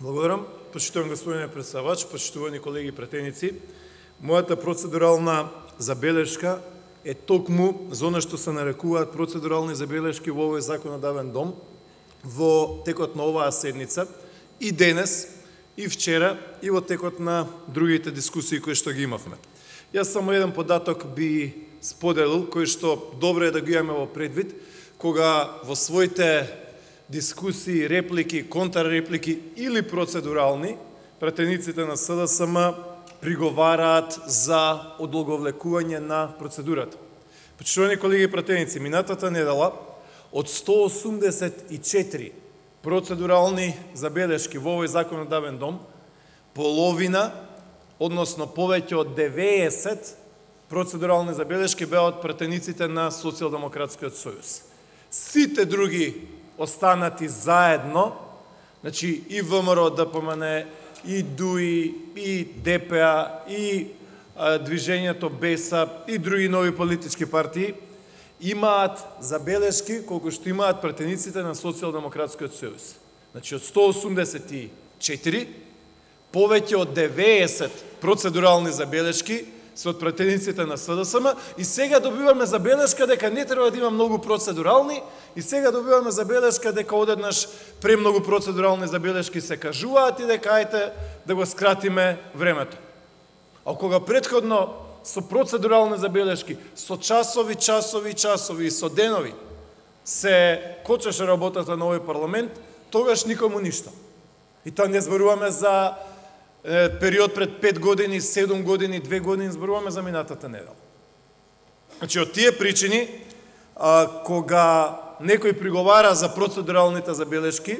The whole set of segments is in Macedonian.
Благодарам. Почитувам господине председавач, почитувани колеги пратеници. Мојата процедурална забелешка е токму за она што се нарекуваат процедурални забелешки во овој законодавен дом во текот на оваа седница и денес, и вчера, и во текот на другите дискусии кои што ги имавме. Јас само еден податок би споделил, кој што добро е да го имаме во предвид, кога во своите дискусии, реплики, контрреплики или процедурални, пратениците на СДСМ приговараат за одолговлекување на процедурата. Почитувани колеги пратеници, минатата недела од 184 процедурални забелешки во овој законодавен дом, половина, односно повеќе од 90 процедурални забелешки беа од пратениците на Социјалдемократскиот сојуз. Сите други останати заедно, значи и ВМРО, ДПМН, и ДУИ, и ДПА, и Движењето БЕСА, и други нови политички партии, имаат забелешки колку што имаат пратениците на Социјалдемократскиот сојуз. Значи од 184, повеќе од 90 процедурални забелешки се од пратениците на СДСМ и сега добиваме забелешка дека не треба да има многу процедурални и сега добиваме забелешка дека одеднаш премногу процедурални забелешки се кажуваат и дека ајте да го скратиме времето. А кога претходно со процедурални забелешки, со часови и со денови се кочеше работата на овој парламент, тогаш никому ништо. И тоа не зборуваме за период пред 5 години, 7 години, 2 години, зборуваме за минатата недела. Значи, од тие причини, кога некој приговара за процедуралните забелешки,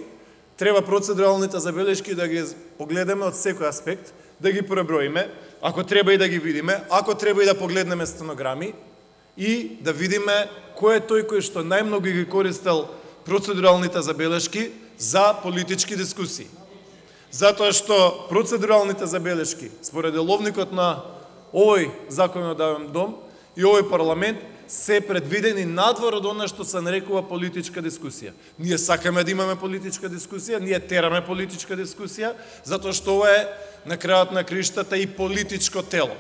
треба процедуралните забелешки да ги погледаме од секој аспект, да ги преброиме, ако треба и да ги видиме, ако треба и да погледнеме стенограми и да видиме кој е тој кој што најмногу ги користел процедуралните забелешки за политички дискусии. Затоа што процедуралните забелешки, според деловникот на овој законодавен дом и овој парламент, се предвидени надвор од она што се нарекува политичка дискусија. Ние сакаме да имаме политичка дискусија, ние тераме политичка дискусија, затоа што ова е на крајот на криштата и политичко тело.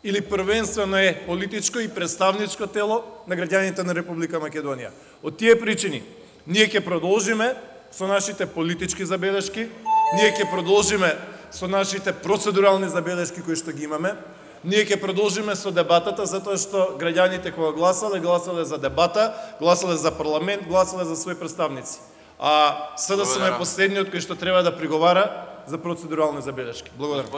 Или првенствено е политичко и представничко тело на граѓаните на Република Македонија. Од тие причини, ние ќе продолжиме со нашите политички забелешки, ние ќе продолжиме со нашите процедурални забелешки кои што ги имаме, ние ќе продолжиме со дебатата, затоа што граѓаните кога гласале за дебата, гласале за парламент, гласале за своји представници. А СДСМ е последниот кој што треба да приговара за процедурални забелешки. Благодарам.